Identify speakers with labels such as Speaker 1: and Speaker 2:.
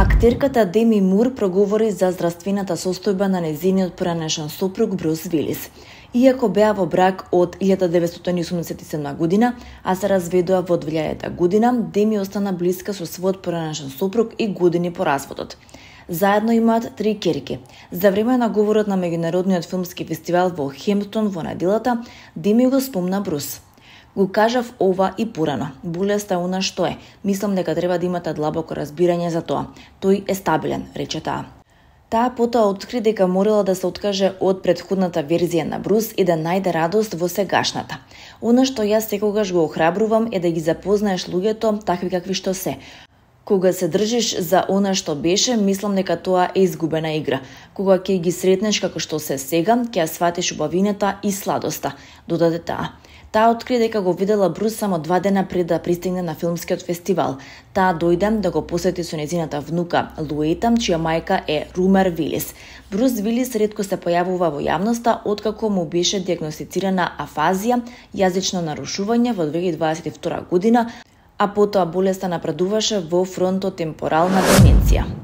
Speaker 1: Актерката Деми Мур проговори за здравствената состојба на нејзиниот поранешен сопруг Брус Вилис. Иако беа во брак од 1987 година, а се разведоа во 2000 година, Деми остана блиска со својот поранешен сопруг и години по разводот. Заедно имаат 3 ќерки. За време на говорот на меѓународниот филмски фестивал во Хемптон во неделата, Деми го спомна Брус. Го кажав ова и порано. Болеста е она што е. Мислам дека треба да имате длабоко разбирање за тоа. Тој е стабилен, рече таа. Таа потоа откри дека морала да се откаже од претходната верзија на Брус и да најде радост во сегашната. Она што јас секогаш го охрабрувам е да ги запознаеш луѓето такви какви што се. Кога се држиш за она што беше, мислам дека тоа е изгубена игра. Кога ќе ги сретнеш како што се сега, ќе ја сватиш убавината и сладоста, додаде таа. Таа откри дека го видела Брус само 2 дена пред да пристигне на филмскиот фестивал. Таа дојде да го посети со нејзината внука Луета, чија мајка е Румер Вилис. Брус Вилис ретко се појавува во јавноста откако му беше дијагностицирана афазија, јазично нарушување во 2022 година, а потоа болеста напредуваше во фронтотемпорална деменција.